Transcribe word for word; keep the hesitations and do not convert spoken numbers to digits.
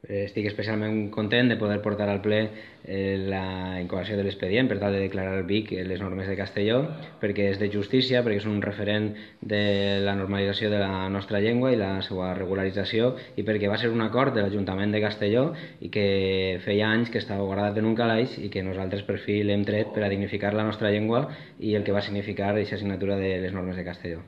Estic especialment content de poder portar al ple eh, la incoació de l'expedient per tal de declarar el Vic les normes de Castelló, perquè és de justícia, perquè és un referent de la normalització de la nostra llengua i la seva regularització, i perquè va ser un acord de l'Ajuntament de Castelló i que feia anys que estava guardat en un calaix i que nosaltres per fi l'hem tret per a dignificar la nostra llengua i el que va significar aquesta assignatura de les normes de Castelló.